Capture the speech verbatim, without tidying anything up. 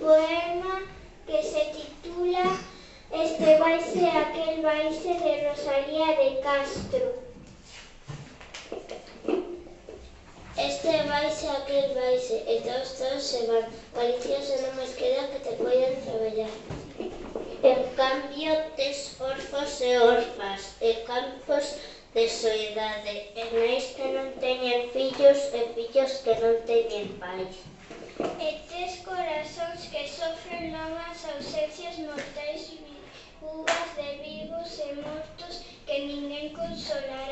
poema que se titula Este vaise aquel vaise de Rosalía de Castro. Este vaise aquel vaise e todos todos se van. Galicia se non máis queda que te poidan traballar. En cambio tes orfos e orfas e campos de soidade e nais que non teñen fillos e fillos que non teñen pais. E tes corazóns que sofren longas ausencias mortais, viúvas de vivos e mortos que ninguén consolará.